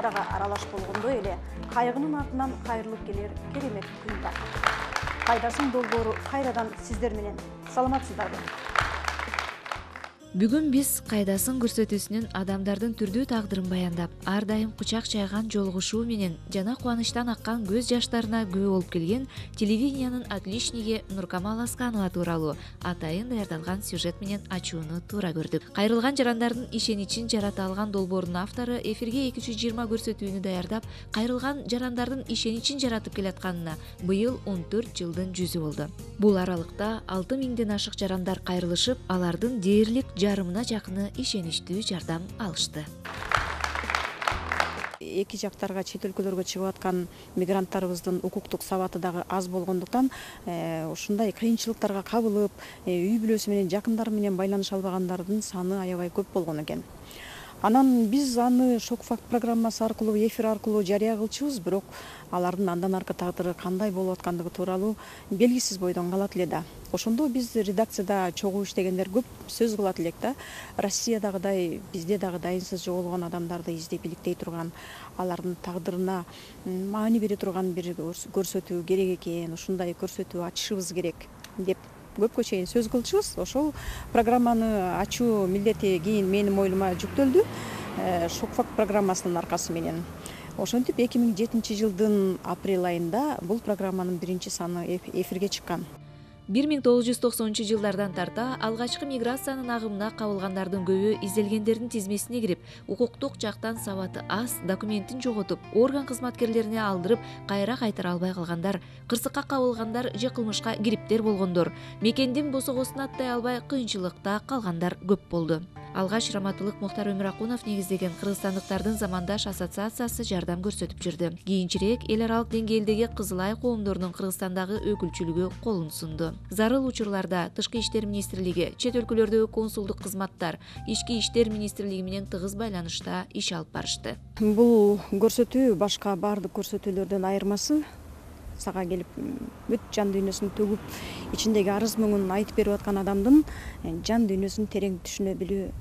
карага аралаш болгондой эле кайгынын артынан кайрылып келер керемет күн бар. Кайдасын долбоору кайрадан сиздер менен. Саламатсыздарбы? Бүгүн биз кайдасын көрсөтүүсүнүн адамдардын түрдүү тагдырын баяндап, ар дайым кучак чайган жолугушуу менен жана кубанычтан аккан көз жаштарына күбө болуп келген телевидениянын отличниги Нуркамал Асканова тууралуу атайын даярдалган сюжет менен ачууну туура көрдүк. Кайрылган жарандардын ишеничин жарата алган долбоорунун автору эфирге 220 көрсөтүүнү даярдап, кайрылган жарандардын ишеничин жаратып келатканына быйыл 14 жылдын жүзү болду. Бул аралыкта 6000ден ашык жарандар кайрылышып, алардын дээрлик жарымына жакыны ишеничтүү жардам алышты. Эки жактарга, чет өлкөлөргө чыгып аткан мигранттарыбыздын укуктук сабаты дагы аз болгондуктан ушундай кыйынчылыктарга кабылып, үй бүлөсү менен, жакындары менен байланыша албагандардын саны аябай көп болгон экен. Анан биз аны Шок-факт программасы аркылуу, эфир аркылуу жарыя кылчубуз, бирок алардын андан аркы тагдыры кандай болуп аткандыгы тууралуу белгисиз бойдон калат эле да. Ошондо биз редакцияда чогуу иштегендер көп сөз кылат элек да. Россиядагыдай, бизде дагы дайынсыз жоголгон адамдарды издеп иликтей турган, алардын тагдырына маани бере турган бир көрсөтүү керек экен, ушундай көрсөтүү ачышыбыз керек деп көпкө чейин сөз кылчубуз. Ошол программаны ачуу милдети кийин менин моюнума жүктөлдү. Шок-факт программасынын аркасы менен. Ошентип 2007 жылдын апрель айында бул программанын биринчи саны эфирге чыккан. 1990 жылдардан тарта алгачкы миграциянын агымына кабылгандардын көбү изделгендердин тизмесине кирип, укуктук жактан сабаты аз, документин жоготуп, орган кызматкерлерине алдырып, кайра кайтара албай калгандар, кырсыкка кабылгандар же кылмышка кириптер болгондор, мекендин босогосуна аттай албай кыйынчылыкта калгандар көп болду. Алгач Раматылык Мухтар Өмүракунов негиздеген Кыргызстандыктардын замандаш ассоциациясы жардам көрсөтүп жүрдү. Кийинчерээк эл аралык деңгээлдеги Кызыл Ай коомдорунун Кыргызстандагы өкүлчүлүгү колун сунду. Зарыл учурларда Тышкы иштер министрлиги, чет өлкөлөрдөгү консулдук кызматтар, Ички иштер министрлиги менен тыгыз байланышта иш алып барышты. Бул көрсөтүү башка бардык көрсөтүүлөрдөн айырмасы сага келип бүт жан дүйнөсүн төгүп, ичиндеги арыз мүңүн айтып берип аткан адамдын жан дүйнөсүн терең түшүнө билүү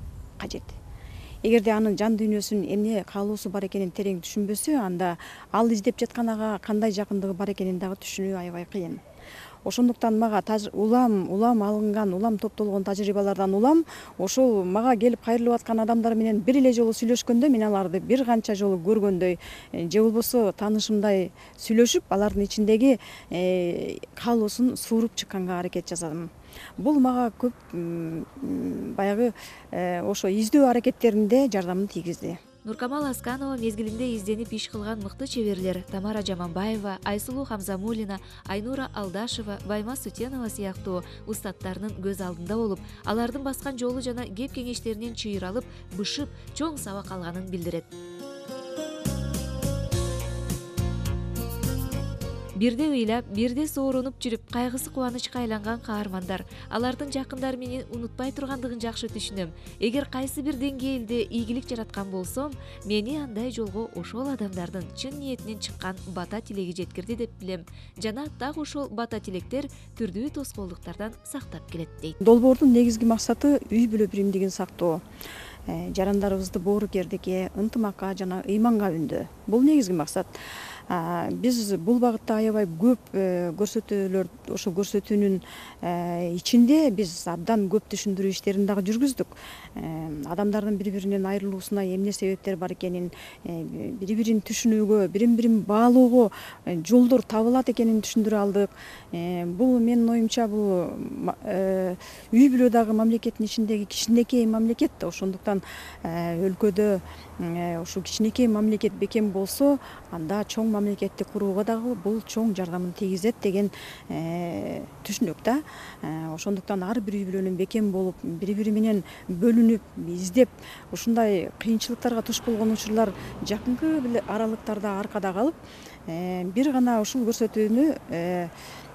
кажет. Эгерде анын жан дүйнөсүн эмне каалоосу бар экенин терең түшүнбөсө, анда ал издеп жатканага кандай жакындыгы бар экенин дагы түшүнүү аябай кыйын. Ошондуктан мага улам алынган, улам топтолгон тажрыйбалардан улам ошол мага келип кайрылып аткан адамдар менен бир эле жолу сүйлөшкөндө мен аларды бир канча жолу көргөндөй же болбосо таанышымдай сүйлөшүп, алардын ичиндеги каалоосун сууруп чыкканга аракет жасадым. Бул мага көп баягы ошо издөө аракеттеринде жардамын тийгизди. Нуркамал Асканова мезгилинде изденип иш кылган мыкты чеберлер Тамара Жаманбаева, Айсулуу Хамзамулина, Айнура Алдашева, Байма Сутенова сыяктуу устаттарынын көз алдында болуп, алардын баскан жолу жана кеп кеңештеринен чыйралып, бышып, чоң сабак алганын билдирет. Бирде ыйлап, бирде сооронуп жүрүп, кайгысы кубанычка айланган каармандар, алардын жакындары менен унутпай тургандыгын жакшы түшүнөм. Эгер кайсы бир деңгээлде ийгилик жараткан болсом, мени андай жолго ошол адамдардын чын ниетинен чыккан бата тилеги жеткирди деп билем. Жана так ошол бата тилектер түрдүү тоскоолдуктардан сактап келет дейт. Долбоордун негизги максаты үй бүлө биримдигин сактоо. Жарандарыбызды боорукердикке, ынтымакка жана ыйманга үндөө. Бул негизги максат. Биз бул багытта аябай көп көрсөтүүлөр, ошо көрсөтүүнүн ичинде биз абдан көп түшүндүрүү иштерин дагы жүргүздүк. Адамдардын бири-биринен айрылуусуна эмне себептер бар экенин, бири-бирин түшүнүүгө, бирин-бирин баалоого жолдор табылат экенин түшүндүрө алдык. Бул менин оюмча бул үй бүлө дагы мамлекеттин ичиндеги кичинекей мамлекет да, ошондуктан өлкөдө ушу кичинекей мамлекет бекем болсо, анда чоң мамлекетти курууга дагы бул чоң жардамын тийгизет деген түшүнөк да. Ошондуктан ар бир үй бүлөнүн бекем болуп, бири-бири менен бөлүнүп, издеп, ушундай кыйынчылыктарга туш болгон учурлар жакынкы аралыктарда аркада калып, бир гана ушул көрсөтүүнү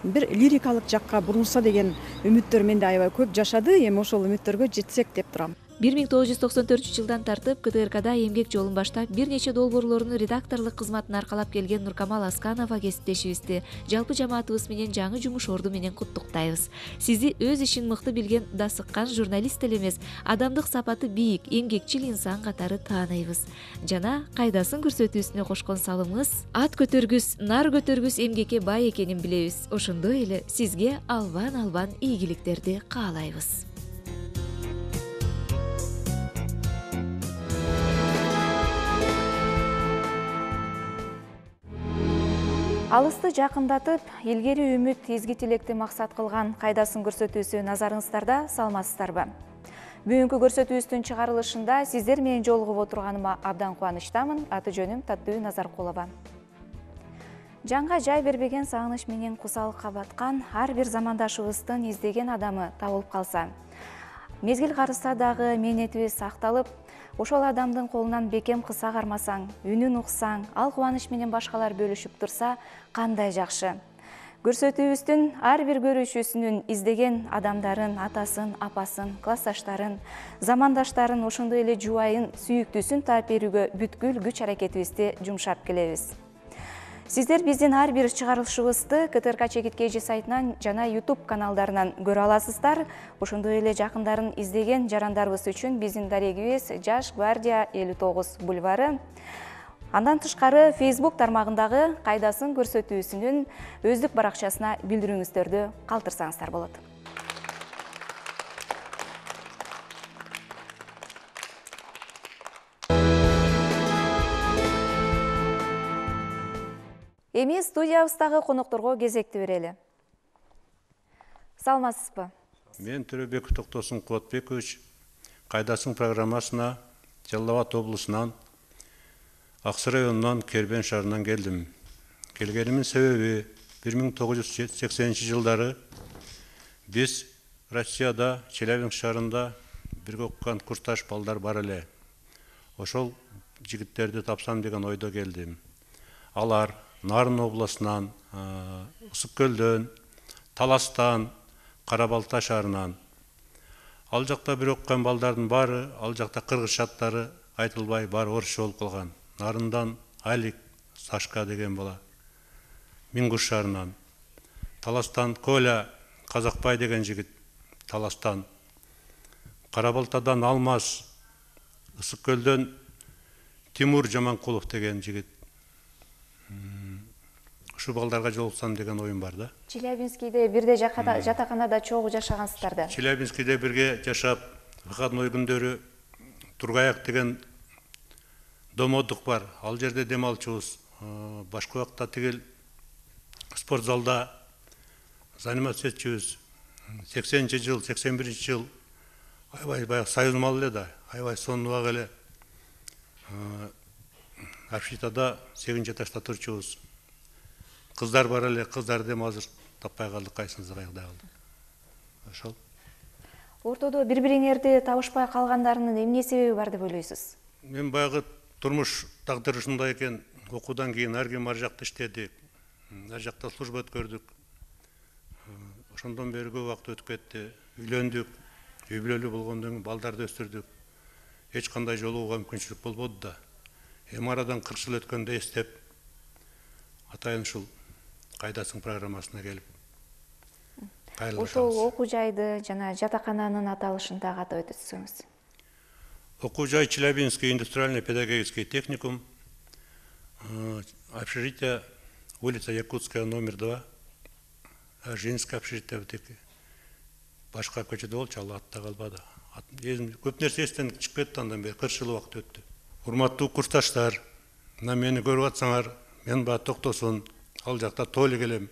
бир лирикалык жакка бурулса деген үмүттөр менде аябай көп жашады. Эми ошол үмүттөргө жетсек деп турам. 1994 тартып КТРКда эмгек жолун баштап, бир нече долбоорлорунун редакторлук кызматын аркалап келген Нуркамал Асканова кесиптешибизди жалпы жамаатыбыз менен жаңы жумуш орду менен куттуктайбыз. Сизи өз ишин мыкты билген дасыккан журналист эле эмес, адамдык сапаты бийик, эмгекчил инсан катары тааныйбыз. Жана кайдасын көрсөтүүсүнө кошкон салымыңыз ат көтөргүс, нар көтөргүс эмгекке бай экенин билебиз. Ошондой эле сизге албан ийгиликтерди каалайбыз. Алысты жакындатып, илгери үмүт, изги тилекти максат кылган кайдасын көрсөтүүсү назарыңыздарда, саламатсыздарбы? Бүгүнкү көрсөтүүбүздүн чыгарылышында сиздер менен жолугуп отурганыма абдан кубанычтамын. Аты жөнүм Таттуу Назаркулова. Жанга жай бербеген сагыныч менен кусалыкка баткан ар бир замандашыбыздын издеген адамы табылып калса, мезгил карыса дагы мээнетибиз сакталып, ошол адамдын колунан бекем кыса кармасаң, үнүн уксаң, ал кубаныч менен башкалар бөлүшүп турса, кандай жакшы. Көрсөтүүбүздүн ар бир көрүүчүсүнүн издеген адамдарын, атасын, апасын, классташтарын, замандаштарын, ошондой эле жубайын, сүйүктүүсүн таап берүүгө бүткүл күч аракетибизди жумшап келебиз. Сиздер биздин ар бир чыгарылышыбызды КТРК Чекит KG сайтынан жана YouTube каналдарынан көрө аласыздар. Ошондой эле жакындарын издеген жарандарыбыз үчүн биздин дарегибиз Жаш Гвардия 59 бульвары. Андан тышкары Facebook тармагындагы кайдасын көрсөтүүсүнүн өздүк баракчасына билдирүүңүздөрдү калтырсаңыздар болот. Эми студиябыздагы конокторго кезекти берели. Саламатсызбы? Мен Төрөбеков Токтосун Кубатбекович кайдасын программасына Жалал Абад облусунан Аксы районунан Кербен шаарынан келдим. Келгенимдин себеби 1980-жылдары биз Россияда Челябинск шаарында бирге окуган курсташ балдар бар эле. Ошол жигиттерди тапсам деген ойдо келдим. Алар Нарын областынан, Ысык көлдөн, Таластан, Карабалта шаарынан. Ал жакта бир окуган балдардын баары, ал жакта кыргызчаттары айтылбай баары орусча болуп калган. Нарындан Алик Сашка деген бала, Мингуш шаарынан. Таластан Коля Казакбай деген жигит, Таластан. Карабалтадан Алмаз, Ысык көлдөн Тимур Жаманкулов деген жигит. Ушу балдарга жолуксам деген оюм бар да. Челябинскийде бирде жатаканада чогуу жашагансыздар да. Челябинскийде бирге жашап, выходной күндөрү Тургаяк деген домодук бар. Ал жерде дем алчубуз. Башка убакта тигил спорт залда заниматься этчүбүз. 80-жыл, 81-жыл аябай союз малы эле да. Аябай сонунубак эле. Общитада 8 этажда турчубуз. Кыздар бар эле, кыздарды дем азыр таппай калдык, кайсыңызды кайгыдай калдык. Ошол. Ортодо бири-бириңерди табышпай калгандарынын эмне себеби бар деп ойлойсуз? Мен баягы турмуш тагдыры ушундай экен. Окуудан кийин ар ким ар жакта иштедик. Ар жакта служба өткөрдүк. Ошондон бери көп убакыт өтүп кетти. Үйлөндүк. Үй бүлөлүү болгондон кийин балдарды өстүрдүк. Эч кандай жолугууга мүмкүнчүлүк болбоду да. Эми арадан 40 жыл өткөндө эстеп, атайын ушул кайдасын программасына келип кайрылышабыз. Ошол окуу жайды жана жатакананын аталышын дагы атап өтсөңүз. Окуу жай Челябинский индустриальный педагогический техникум, общежитие улица Якутская, номер 2, женское общежитие бутеки. Башка көчөдө болчу, ал атта калбады. Көп нерсе эстен чыгып кетти, андан бери 40 жыл убакыт өттү. Урматтуу курсташтар, мына мени көрүп атсаңар, мен баа Токтосун, ал жакта Толик элем.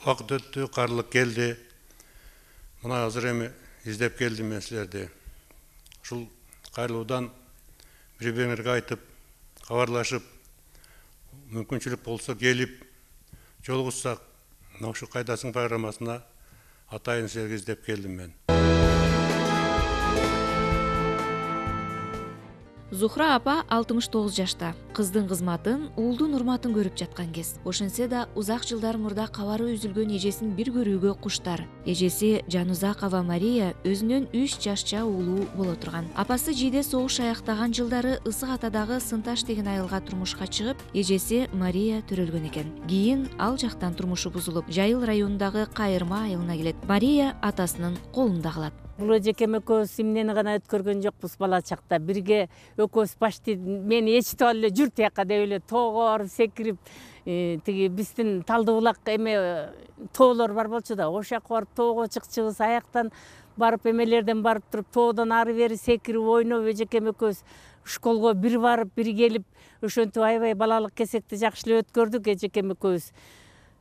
Убакыт өттү, карлык келди. Мына азыр эми издеп келдим мен силерди. Ушул кайрылуудан бири-бириңерге айтып, кабарлашып, мүмкүнчүлүк болсо келип, жолугушсак, мына ушу кайдасын программасына атайын силерге издеп келдим мен. Зухра апа 69 жашта. Кыздын кызматын, уулдун урматын көрүп жаткан кез. Ошентсе да узак жылдар мурда кабары үзүлгөн эжесин бир көрүүгө куштар. Эжеси Жанузакова Мария өзүнүн 3 жашча уулу боло турган. Апасы жийде согуш аяктаган жылдары Ысык Атадагы Сынташ деген айылга турмушка чыгып, эжеси Мария төрөлгөн экен. Кийин ал жактан турмушу бузулуп, Жайыл районундагы Кайырма айылына келет. Мария атасынын колунда калат. Бул эжекем экөөбүз эмнени гана өткөргөн жокпуз бала чакта. Бирге экөөбүз почти мени ээрчитип алып эле жүр тияка деп эле тоого барып секирип, тиги биздин Талды булак тоолор бар болчу да, ошол жака барып тоого чыкчубуз, аяктан барып эмелерден барып туруп тоодон ары бери секирип ойноп эжекем экөөбүз школго бир барып, бир келип, ошентип аябай балалык кесекти жакшы эле өткөрдүк эжекем экөөбүз.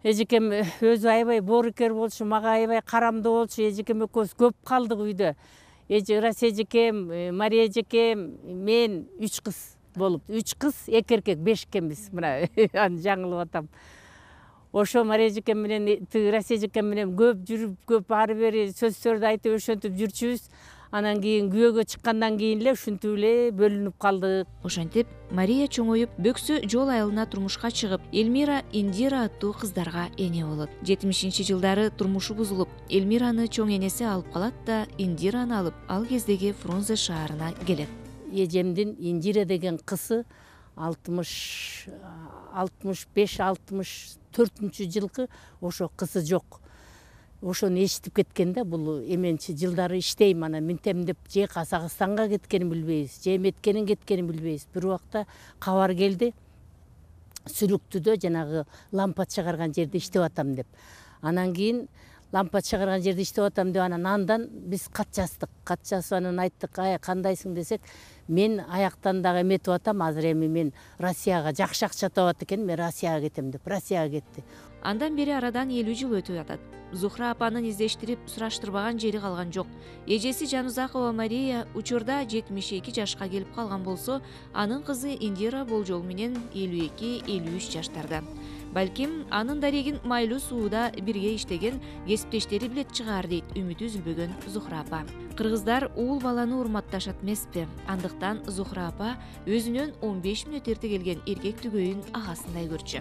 Эжекем өзү аябай боорукер болчу, мага аябай карамдуу болчу. Эжекем экөөбүз көп калдык үйдө. Расия эжекем, Мария эжекем, мен 3 кыз болуп, 3 кыз, 2 эркек, 5 экенбиз. Мына аны жаңылып атам. Ошо Мария эжекем менен, Расия эжекем менен көп жүрүп, көп ары бери сөздөрдү айтып ошентип жүрчүбүз. Анан кийин күйөөгө чыккандан кийин эле ушинтип эле бөлүнүп калдык. Ошентип Мария чоңоюп, Бөксө жол айылына турмушка чыгып, Элмира, Индира аттуу кыздарга эне болот. 70-жылдары турмушу бузулуп, Элмираны чоң энеси алып калат да, Индираны алып, ал кездеги Фрунзе шаарына келет. Эжемдин Индира деген кызы 65-64 жылкы ошо кызы жок. Ошону эшитип кеткен да, бул эменчи жылдары иштейм, анан минтем деп же Казакстанга кеткенин билбейбиз, же эметкенин кеткенин билбейбиз. Бир убакта кабар келди, Сүлүктүдө жанагы лампа чыгарган жерде иштеп атам деп. Анан кийин лампа чыгарган жерде иштеп атам деп, андан биз кат жаздык. Кат жазып анан айттык, кандайсың десек, мен аяктан дагы эметип атам, азыр эми мен Россияга жакшы акча табат экен, мен Россияга кетем деп, Россияга кетти. Андан бери арадан 50 жыл өтүп атат. Зухра апанын издештирип, сураштырбаган жери калган жок. Эжеси Жанузакова Мария учурда 72 жашка келип калган болсо, анын кызы Индира болжол менен 52-53 жаштарда. Балким, анын дарегин майлуу сууда бирге иштеген кесиптештери билет чыгаар дейт үмүтү үзүлбөгөн Зухра апа. Кыргыздар уул баланы урматташат эмеспи? Андыктан Зухра апа өзүнөн 15 мүнөт эрте келген эркек түгөйүн агасындай көрчү.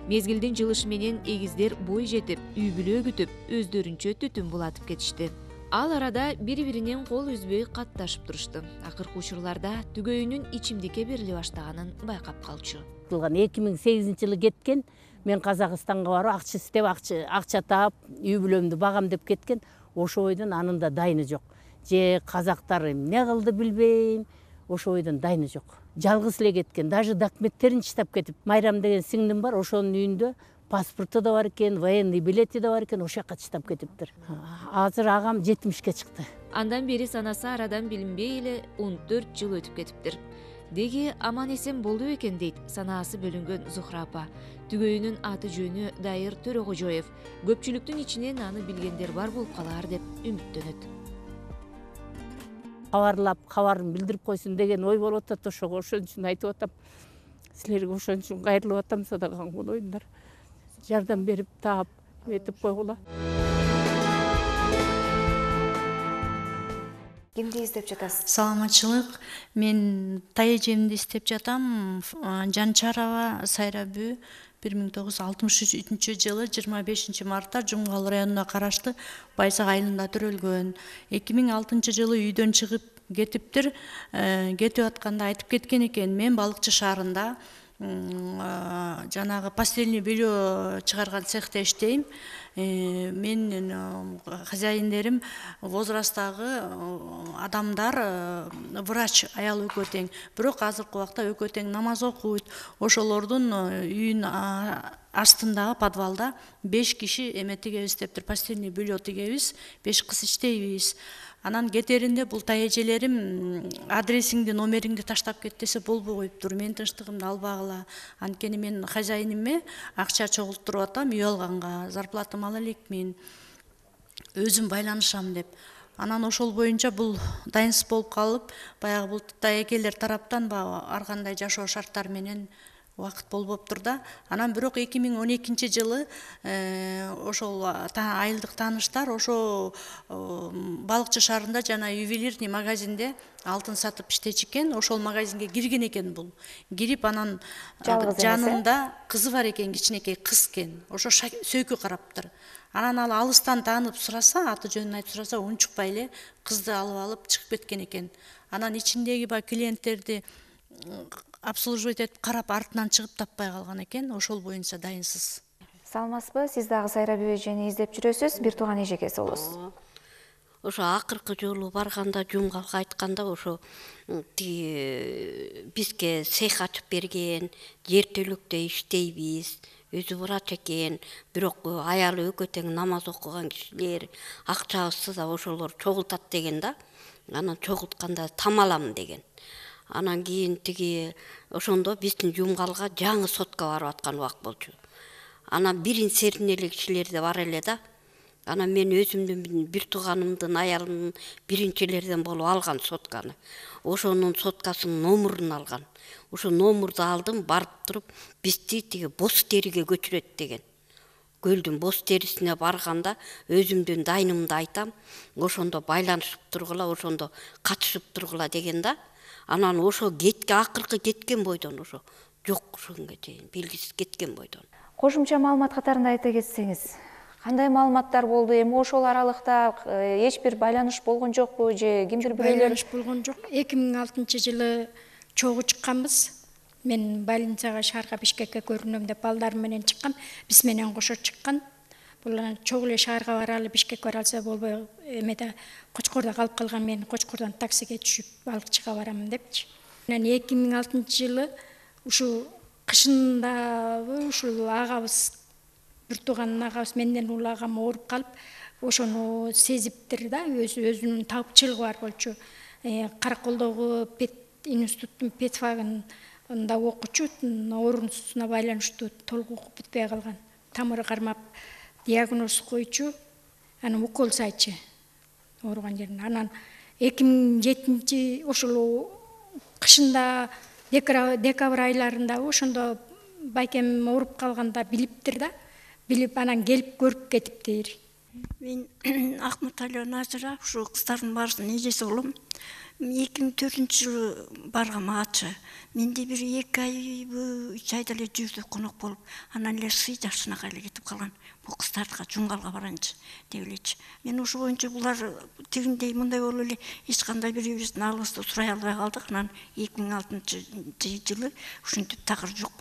Мезгилдин жылышы менен эгиздер бой жетип, үй бүлө күтүп, өздөрүнчө түтүн булатып кетишти. Ал арада бири-биринен кол үзбөй катташып турушту. Акыркы учурларда түгөйүнүн ичимдикке бериле баштаганын байкап калчу. 2008-жылы кеткен, мен Казакстанга барып акча издеп, акча таап, үй бүлөмдү багам деп кеткен. Ошо ойдон анында дайыны жок. Же казактар эмне кылды билбейм, ошо ойдон дайыны жок. Жалгыз эле кеткен, даже документтерин чыштап кетип. Майрам деген сиңдим бар, ошонун үйүндө паспорту да бар экен, военный билети да бар экен, ошол жака чыштап кетиптир. Азыр агам 70-ке чыкты. Андан бери санасы арадан билинбей эле 14 жыл өтүп кетиптир. Деги аман эсен болду экен дейт санаасы бөлүнгөн Зухра апа. Түгөйүнүн аты жөнү Дайыр Төрөгожоев. Көпчүлүктүн ичинен аны билгендер бар болуп калар деп үмүттөнөт. Кабарлап, кабарын билдирип койсун деген ой болуп атат, ошого ошон үчүн айтып атам. Силерге ошон үчүн кайрылып атам, садаган болоюңдар. Жардам берип, таап, этип койгула. Кимди издеп жатасыз? Саламатчылык. Мен тай эжемди издеп жатам. Жанчарова Сайрабү 1963-жылы 25 мартта Жумгал районуна караштуу Байзак айылында төрөлгөн. 2006 жылы үйдөн чыгып кетиптир. Кетип атканда айтып кеткен экен, мен Балыкчы шаарында жанагы постельный белье чыгарган цехте иштейм. Мен хозяиндерим возрасттагы адамдар, врач аял экөө тең. Бирок азыркы убакта экөө тең намаз окуйт. Ошолордун үйүн астындагы подвалда 5 киши эме тигебиз дептир, постельный белье тигебиз, 5 кыз иштейбиз. Анан кетеринде бул тай эжелерим адресиңди, номериңди таштап кет десе болбой коюптур. Мен тынчтыгымды албагыла. Анткени мен хозяиниме акча чогултуруп атам, үй алганга, зарплатам ала элекмин. Өзүм байланышам деп. Анан ошол боюнча бул дайынсыз болуп калып, баягы бул тай экелер тараптан ар кандай жашоо шарттары менен убакыт болбоптур да. Анан бирок 2012-жылы ошол айылдык тааныштар ошо Балыкчы шаарында жана ювелирный магазинде алтын сатып иштечү экен. Ошол магазинге кирген экен бул. Кирип анан жанында кызы бар экен, кичинекей кыз экен. Ошо сөйкү караптыр. Анан ал алыстан таанып сураса, аты жөнүн айтып сураса, унчукпай эле кызды алып чыгып кеткен экен. Анан ичиндеги клиенттерди обслуживать этип карап артынан чыгып таппай калган экен. Ошол боюнча дайынсыз. Саламатсызбы? Сиз дагы Сайрап эжени издеп жүрөсүз. Бир тууган эжекеси болосуз. Ошо акыркы жолу барганда жумгалга айтканда ошо бизге цех ачып берген, жер төлөктө иштейбиз, өзү врач экен, бирок аялы экөө тең намаз окуган кишилер, акчабызды да ошолор чогултат деген да. Анан чогултканда тамалам деген. Анан кийин ошондо биздин жумгалга жаңы сотка барып аткан убак болчу. Анан бирин сердин эле кишилер да бар эле да. Анан мен өзүмдүн бир тууганымдын аялынын биринчилерден болуп алган сотканы. Ошонун соткасынын номурун алган. Ошо номурду алдым, барып туруп, бизди боз териге көчүрөт деген. Көлдүн боз терисине барганда өзүмдүн дайнымды айтам, ошондо байланышып тургула, ошондо катышып тургула деген да. Анан ошо акыркы кеткен бойдон ошо жок, ошонго чейин белгисиз кеткен бойдон. Кошумча маалымат катарында айта кетсеңиз, кандай маалыматтар болду? Эми ошол аралыкта эч бир байланыш болгон жокпу же кимдир бирөөлөр? Байланыш болгон жок. 2006-жылы чогуу чыкканбыз. Мен больницага шаарга Бишкекке көрүнөм деп балдарым менен чыккам. Биз менен кошо чыккан. Бул чогуу эле шаарга баралы, Бишкекке баралса болбой, эмеде Кочкордо калып калган, мен Кочкордон таксиге түшүп Балыкчыга барамын депчи. Анан 2006-жылы ушул кышындабы ушул агабыз, бир тууган агабыз менден улуу агам ооруп калып, ошону сезиптир да, өзүнүн табычылыгы бар болчу. Караколдогу пет институттун педфагын окучу, оорусуна байланыштуу толук окуп бүтпөй калган. Тамыры кармап диагноз койчу, анан укол сайчы ооруган жерине. Анан 2007 ошол кышында декабрь айларында ошондо байкем ооруп калганда билиптир да, билип анан келип көрүп кетиптир. Мен Акматалиева Назира, ушу кыздардын баарысынын эжеси болом. 2004-жылы баргам ачы. Менде бир 2 айбы 3 айда эле жүрдү конок болуп, анан эле сый жашынага эле кетип калган. Бул кыздардыга жумгалга барайынчы деп элечи. Мен ошо боюнча булар тигиндей мындай болуп эле эч кандай бирибиздин алыбызды сурай албай калдык. Анан 2006-жылы ушинтип такыр жок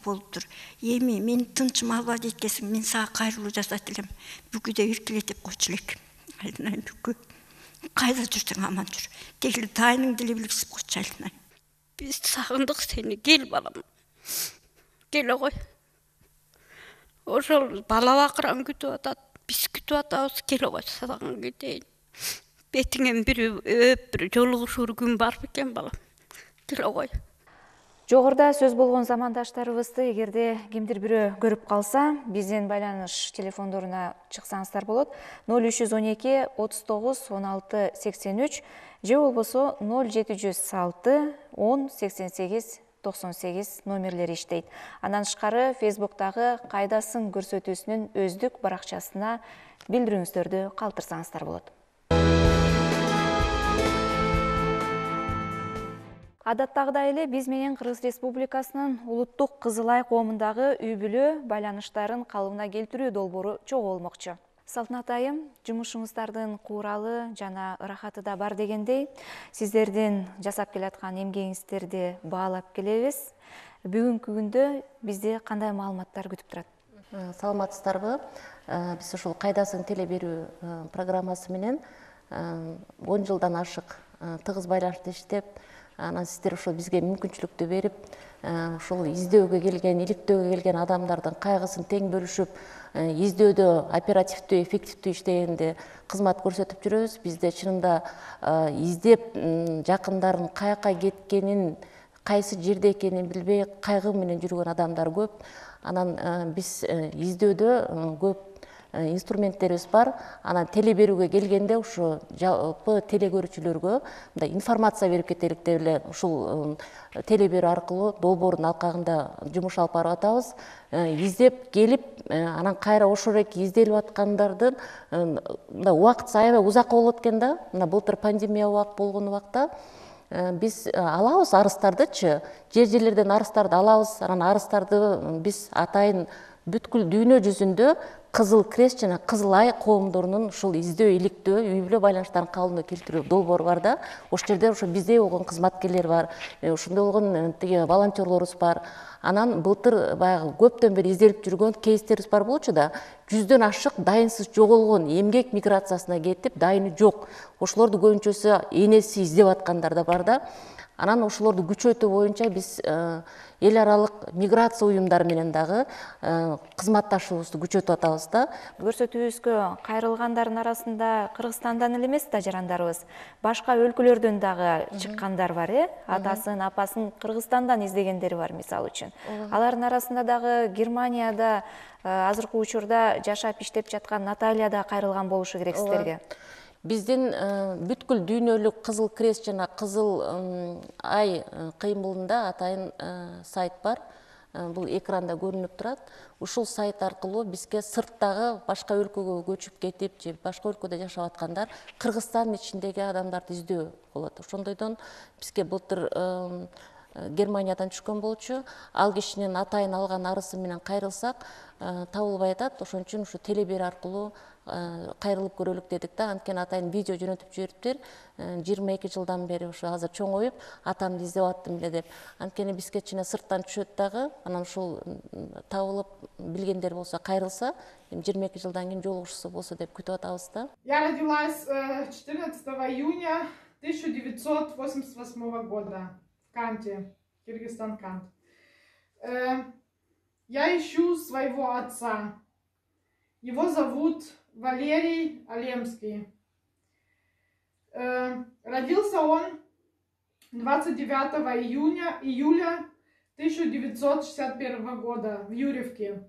болуптур. Эми мен тынчым албай жеткесин, мен сага кайрылуу жасайт элем. Бүкүдө иркилетип койчу элек. Айдынайын бүкү. Кайда жүрсөң аман жүр. Тегил тайның деле билгиз койчу Айдынайын. Биз сагындык сени, кел балам. Келе кой. Ошол бала бакыран күтүп атат, биз күтүп атабыз, келе кой сагын кетейин. Бетиңен бир өп, бир жолугушуур күн бар бекен балам. Келе кой. Жогоруда сөз болгон замандаштарыбызды эгерде кимдир бирөө көрүп калса, биздин байланыш телефондоруна чыксаңыздар болот. 0312 39 16 83 же болбосо 0706 10 88 98 номерлери иштейт. Андан тышкары Facebook'тагы кайдасың көрсөтүүсүнүн өздүк баракчасына билдирүүңүздөрдү калтырсаңыздар болот. Адаттагыдай эле биз менен Кыргыз Республикасынын улуттук Кызылай коомундагы үй бүлө байланыштарын калыбына келтирүү долбоору чогуу болмокчу. Салтанат айым, жумушуңуздардын кууралы жана ырахаты да бар дегендей, сиздердин жасап келаткан эмгегиңиздерди баалап келебиз. Бүгүнкү күндө бизди кандай маалыматтар күтүп турат? Саламатсыздарбы? Биз ушул кайдасың теле берүү программасы менен 10 жылдан ашык тыгыз байланышта иштеп, анан сиздер ошол бизге мүмкүнчүлүктү берип, ушул издөөгө келген, иликтөөгө келген адамдардын кайгысын тең бөлүшүп, издөөдө оперативдүү, эффективдүү иштегенде кызмат көрсөтүп жүрөбүз. Бизде чынында издеп жакындарын каяка кеткенин, кайсы жерде экенин билбей кайгы менен жүргөн адамдар көп. Анан биз издөөдө көп инструменттерибиз бар. Анан теле берүүгө келгенде ушу жалпы теле көрүүчүлөргө мындай информация берип кетелик деп эле ушул теле берүү аркылуу долбоордун алкагында жумуш алып барып атабыз. Издеп келип, анан кайра ошол эки изделип аткандардын мындай убакыт аябай узакка болот экен да. Мына былтыр пандемия убак болгон убакта биз алабыз арыздардычы, жерлерден арыздарды алабыз. Анан арыздарды биз атайын бүткүл дүйнө жүзүндө Кызыл Крест жана Кызыл Ай коомдорунун ушул издөө, иликтөө, үй бүлө байланыштарын калыбына келтирүү долбоору бар да. Ошол жерде ошо биздей болгон кызматкерлер бар, ошондой болгон волонтерлорубуз бар. Анан былтыр баягы көптөн бери изделип жүргөн кейстерибиз бар болчу да. 100дөн ашык дайынсыз жоголгон эмгек миграциясына кетип, дайыны жок. Ошолорду көбүнчөсү энеси издеп аткандар да бар да. Анан ошолорду күчөтүү боюнча биз эл аралык миграция уюмдары менен дагы кызматташуубузду күчөтүп атабыз да. Көрсөтүүбүзгө кайрылгандардын арасында Кыргызстандан эле эмес да жарандарыбыз, башка өлкөлөрдөн дагы чыккандар бар, атасын, апасын Кыргызстандан издегендери бар, мисалы үчүн. Алардын арасында дагы Германияда азыркы учурда жашап иштеп жаткан Наталья да кайрылган болушу керек сиздерге. Биздин бүткүл дүйнөлүк Кызыл Крест жана Кызыл Ай кыймылында атайын сайт бар. Бул экранда көрүнүп турат. Ушул сайт аркылуу бизге сырттагы башка өлкөгө көчүп кетип, же башка өлкөдө жашап аткандар Кыргызстандын ичиндеги адамдарды издөө болот. Ошондойдон бизге былтыр Германиядан түшкөн болчу. Ал кишинин атайын алган арызы менен кайрылсак, табылбай атат. Ошон үчүн ушу теле берүү аркылуу кайрылып көрөлүк дедик да. Анткени атайын видео жөнөтүп жибериптир. 22 жылдан бери ушу азыр чоңоюп, атамды издеп аттым эле деп. Анткени бизге кичине сырттан түшөт дагы. Анан ушул табылып билгендер болсо кайрылса, 22 жылдан кийин жолугушуу болсо деп күтүп атабыз да. Я родилась 14 июня 1988 года в Канте, Кыргызстан, Кант. Я ищу своего отца. Его зовут Валерий Алемский. Родился он 29 июля 1961 года в Юрьевке.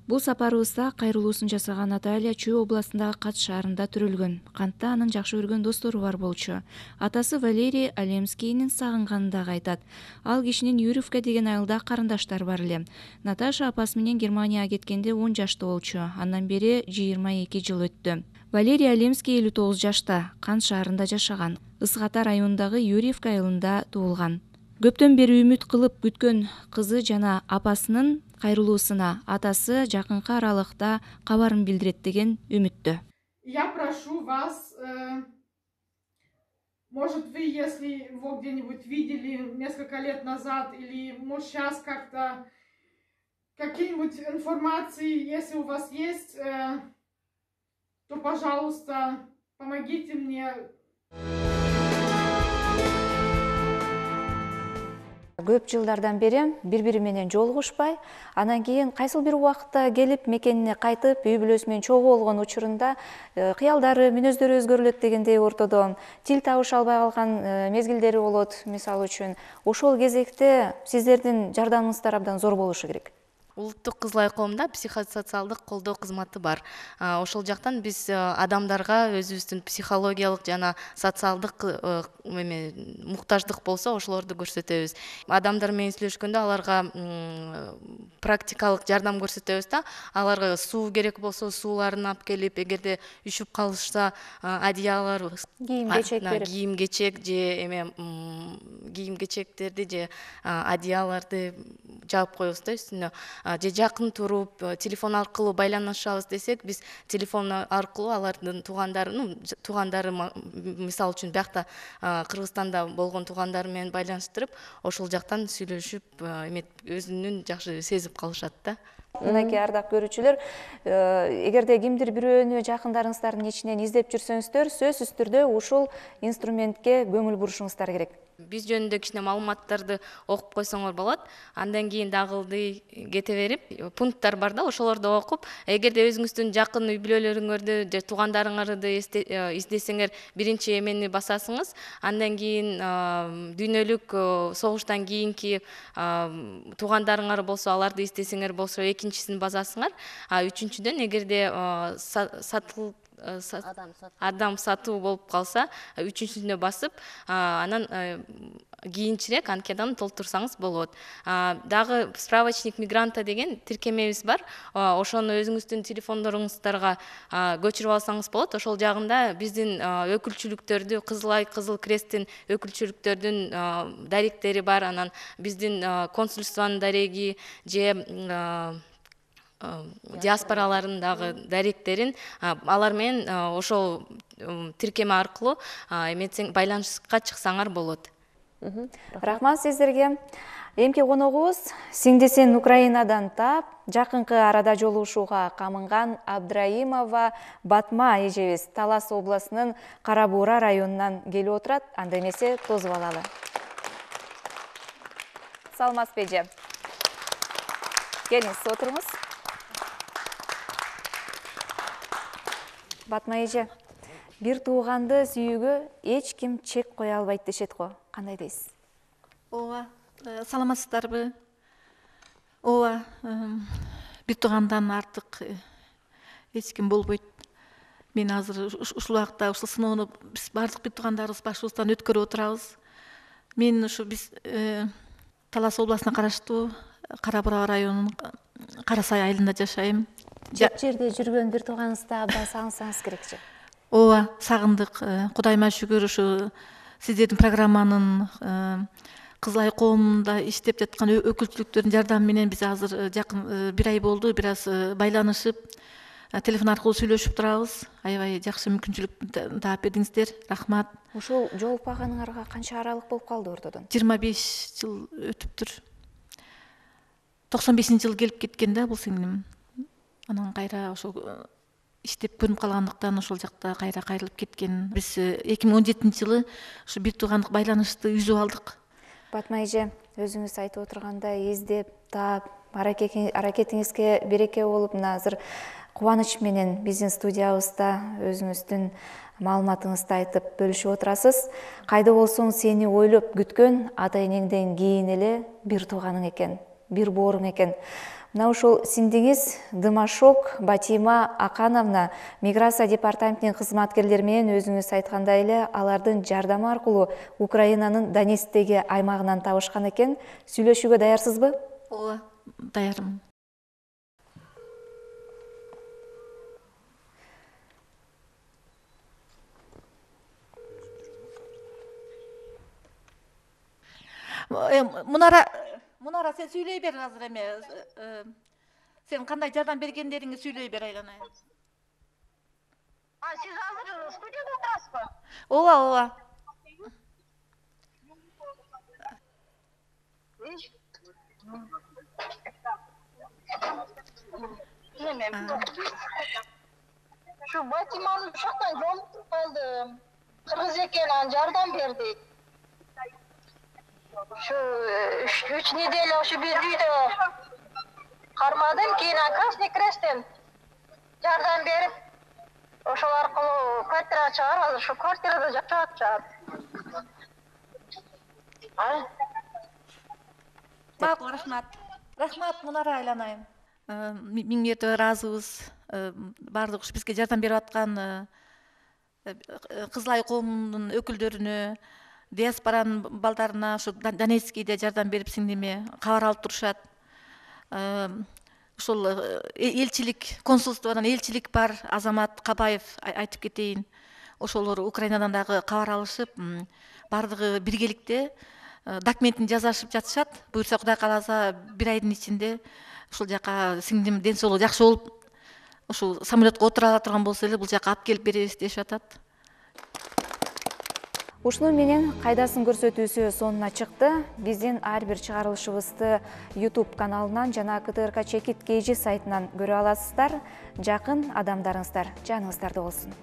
Бул сапарыбызда кайрылуусун жасаган Наталья Чүй областындагы Кат шаарында төрөлгөн. Кантта анын жакшы көргөн достору бар болчу. Атасы Валерий Алемскийнин сагынганын дагы айтат. Ал кишинин Юрьевка деген айылда карындаштары бар эле. Наташа апасы менен Германияга кеткенде 10 жашта болчу. Андан бери 22 жыл өттү. Валерий Алемский 59 жашта, Кант шаарында жашаган. Ысык Ата районундагы Юрьевка айылында туулган. Көптөн бери үмүт кылып күткөн кызы жана апасынын кайрылуусуна атасы жакынкы аралыкта кабарын билдирет деген үмүттө. Я прошу вас, может вы, если его где-нибудь видели несколько лет назад или может сейчас как-то какие-нибудь информации, если у вас есть, то, пожалуйста, помогите мне. Көп жылдардан бери бири менен жолугушпай, анан кийин кайсыл бир убакытта келип мекенине кайтып, үй бүлөсү менен чогуу болгон учурунда кыялдары, мүнөздөрү өзгөрүлөт дегендей ортодон тил табыша албай калган мезгилдери болот, мисалы үчүн. Ошол кезекте сиздердин жардамыңыздар абдан зор болушу керек. Улуттук Кызыл Ай коомунда психосоциалдык колдоо кызматы бар. Ошол жактан биз адамдарга өзүбүздүн психологиялык жана социалдык муктаждык болсо ошолорду көрсөтөбүз. Адамдар менен сүйлөшкөндө аларга практикалык жардам көрсөтөбүз да. Аларга суу керек болсо сууларын алып келип, эгерде үшүп калышса одеялар, кийим-кечек берип, кийим-кечек же кийим-кечектерди же одеяларды жаап коебуз да үстүнө. Же жакын туруп телефон аркылуу байланышабыз десек, биз телефон аркылуу алардын туугандары мисалы үчүн биякта Кыргызстанда болгон туугандары менен байланыштырып, ошол жактан сүйлөшүп, өзүнүн жакшы сезип калышат да. Мынакей ардак көрүүчүлөр, эгерде кимдир бирөөнү жакындарыңыздардын ичинен издеп жүрсөңүздөр, сөзсүз түрдө ушул инструментке көңүл бурушуңуздар керек. биз жөнүндө кичине маалыматтарды окуп койсоңор болот. Андан кийин дагы ылдый кете берип, пункттар бар да, ошолорду окуп, эгерде өзүңүздүн жакын үй бүлөлөрүңөрдү же туугандарыңарды издесеңер, биринчи эмени басасыңыз. Андан кийин дүйнөлүк согуштан кийинки туугандарыңар болсо, аларды издесеңер болсо, экинчисин басасыңар. Үчүнчүдөн, эгерде адам сатуу болуп калса, үчүнчүсүнө басып, анан кийинчерээк анкетаны толтурсаңыз болот. Дагы справочник мигранта деген тиркемебиз бар. Ошону өзүңүздүн телефондоруңуздарга көчүрүп алсаңыз болот. Ошол жагында биздин өкүлчүлүктөрдү, Кызыл Ай, Кызыл Кресттин өкүлчүлүктөрдүн даректери бар. Анан биздин консульствонун дареги же диаспоралардын дагы даректерин алар менен ошол тиркеме аркылуу эметсең, байланышка чыксаңар болот. Рахмат сиздерге. Эмки коногубуз сиңдисин Украинадан таап, жакынкы арада жолугушууга камынган Абдраимова Батма эжебиз Талас областынын Кара Буура районунан келип отурат. Анда эмесе тосуп алалы. Саламатсызбы эже? Келиңиз, отуруңуз. Батма эже, бир тууганды сүйүүгө эч ким чек кое албайт дешет го. Кандай дейсиз? Ооба, саламатсыздарбы? Ооба, бир туугандан артык эч ким болбойт. Мен азыр ушул убакта ушул сыноону биз бардык бир туугандарыбыз башыбыздан өткөрүп отурабыз. Мен ушу биз Талас областына караштуу Кара Буура районунун Кара Сай айылында жашайм. Жак жерде жүргөн бир тууганыңызды абдан сагынсаңыз керекчи. Ооба, сагындык. Кудайыма шүгүр, ушу сиздердин программанын Кызыл Ай коомунда иштеп жаткан өкүлчүлүктөрдүн жардамы менен биз азыр жакын бир ай болду, бир аз байланышып, телефон аркылуу сүйлөшүп турабыз. Аябай жакшы мүмкүнчүлүк таап бердиңиздер. Рахмат. Ушул жолукпаганыңарга канча аралык болуп калды ортодон? 25 жыл өтүптүр. 95-жылы келип кеткен да бул сиңдим. Анан кайра ошол иштеп көрүнүп калгандыктан ошол жакта кайра кайрылып кеткен. Биз 2017-жылы ушу бир туугандык байланышты үзүп алдык. Батма эже, өзүңүз айтып отургандай издеп, таап, аракетиңизге береке болуп, мына азыр кубаныч менен биздин студиябызда өзүңүздүн маалыматыңызды айтып бөлүшүп отурасыз. Кайда болсоң сени ойлоп күткөн ата энеңден кийин эле бир тууганың экен, бир бооруң экен. Мына ушул сиңдиңиз Дымашок Батима Акановна миграция департаментинин кызматкерлери менен өзүңүз айткандай эле алардын жардамы аркылуу Украинанын Донецктеги аймагынан табышкан экен. Сүйлөшүүгө даярсызбы? Ооба, даярмын. Мунара, сен сүйлөй бер азыр эме. Сен кандай жардам бергендериңди сүйлөй бер, айланайын. Сиз азыр студияда отурасызбы? Ооба, ооба. Şu Батиманы ушактан жолуктуп калдым. Кыргыз экен, анан жардам бердик. Şu 3 неделя ошо бир үйдө кармадым, кийин Красный Кресттен жардам берип, ошол аркылуу квартира чыгарып, азыр ошо квартирада жашап атышат. Макул, рахмат. Рахмат, Мунара, айланайын. Миң мертебе ыраазыбыз. Бардык ушу бизге жардам берип аткан Кызыл Ай коомунун өкүлдөрүнө, диаспоранын балдарына, ушу Донецкийде жардам берип сиңдиме кабар алып турушат. Ушул элчилик, консулстводон элчилик бар, Азамат Кабаев айтып кетейин. Ошолор Украинадан дагы кабар алышып, бардыгы биргеликте документин жазашып жатышат. Буюрса Кудай кааласа бир айдын ичинде ушул жака сиңдим ден соолугу жакшы болуп, ушул самолетко отура ала турган болсо эле бул жака алып келип беребиз дешип атат. Ушуну менен кайдасын көрсөтүүсү сонуна чыкты. Биздин ар бир чыгарылышыбызды YouTube каналынан жана КТРК Чекит KG сайтынан көрө аласыздар. Жакын адамдарыңыздар жаныңыздарда болсун.